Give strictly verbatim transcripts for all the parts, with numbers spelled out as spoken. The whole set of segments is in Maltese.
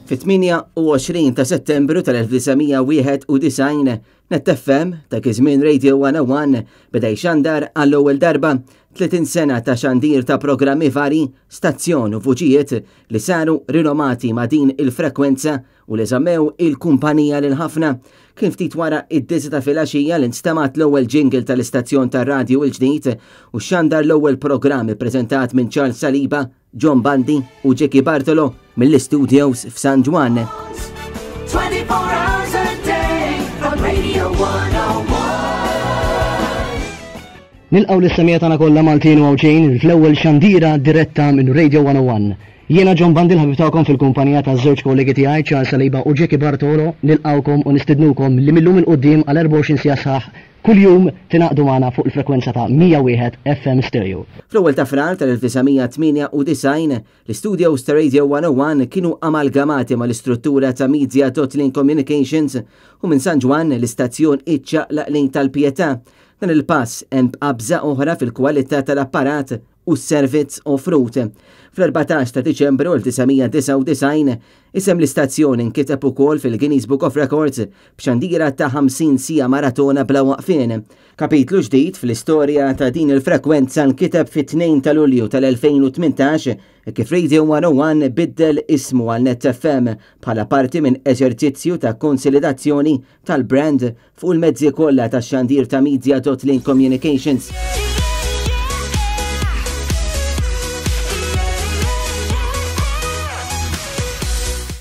Fit-tmienja u għoxrin ta' Settembru tal-elf disa' mija wieħed u disgħin, Net F M ta' iż-żmien Radio one oh one beda jxandar għall-ewwel darba tletin sena ta' xandir ta' programmi vari, stazzjon u vuċijiet li saru rinomati ma' din il-frekwenza u li żammew il-kumpanija lil ħafna. Kien ftit wara id-disgħa ta' filgħaxija li nstemat l-ewwel jingle tal-istazzjon tar-radju il-ġdid u xandar l-ewwel programm ippreżentat minn Charles Saliba, John Bundy u Jackie Bartolo mill-istudios f'San Ġwann. twenty-four hours a day on Radio one oh one. Nilqgħu lis-semija tagħna kollha Maltin u Għawdxin fl-ewwel xandira diretta minn Radio one oh one. Jiena John Bundy l-ħabib tagħkom fil-kumpanija ta' żewġ kollegi tiegħi Charles Saliba u Jackie Bartolo. Nilqgħukom u nistednukom li millum il quddiem għal erbgħa u għoxrin siegħa sħaħ kuljum tingħaqdu magħna fuq il-frekwenza ta' mija wieħed F M Stereo. Fl-ewwel ta' Frar tal-elf disa' mija tmienja u disgħin, l-istudios ta' Radio one oh one kienu amalgamati mal-istruttura ta' Media dot Link Communications u minn San Ġwann l-istazzjon iċċaqlaq lejn tal-Pietà. Dan il-pass hemm qabża oħra fil-kwalità tal-apparat u s-servizz offrut. Fl-erbatax ta' Diċembru elf disa' mija disgħa u disgħin, isem l-istazzjon inkiteb ukoll fil-Guinness Book of Records b'xandira ta' ħamsin siegħa maratona bla waqfien. Kapitlu ġdid fl-istorja ta' din il-frekwenza nkiteb fit-tnejn ta' Lulju tal-elfejn u tmintax kif Radio one oh one biddel ismu għal Net F M bħala parti minn eżerċizzju ta' konsolidazzjoni tal-brand fuq il-mezzi kollha tax-xandir ta' Media dot Link Communications.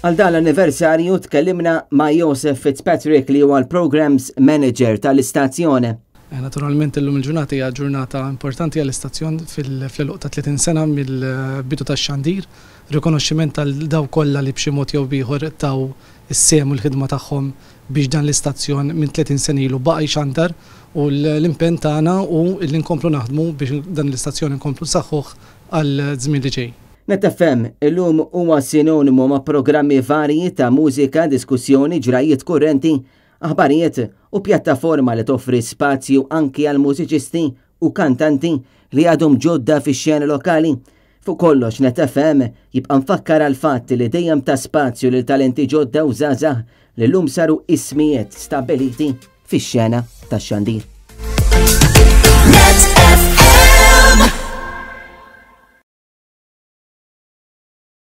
Għal dan l-anniversarju tkellimna ma' Joseph Fitzpatrick li huwa l-Programs Manager tal-istazzjon. Eh, naturalment illum il-ġurnata hija ġurnata importanti għall-istazzjon fil-għeluq ta' tletin sena mill-bidu tax-xandir, rikonoxximent tal daw kollha li b'xi mod jew b'ieħor taw is-sehem u l-ħidma tagħhom biex dan l-istazzjon minn tletin sena ilu baqa' jxandar u l-impenn tagħna hu li nkomplu naħdmu biex dan l-istazzjon inkomplu nsaħħuh għal żmien li ġej. Net F M illum huwa sinonimu ma' programmi varji ta' mużika, diskussjoni, ġrajiet kurrenti, aħbarijiet u pjattaforma li toffri spazju anki għal mużiċisti u kantanti li għadhom ġodda fix-xena lokali. Fuq kollox Net F M jibqa' mfakkar għal fatt li dejjem ta' spazju lil talenti ġodda u żgħażagħ li llum saru ismijiet stabbiliti fix-xena tax-xandir. Net F M.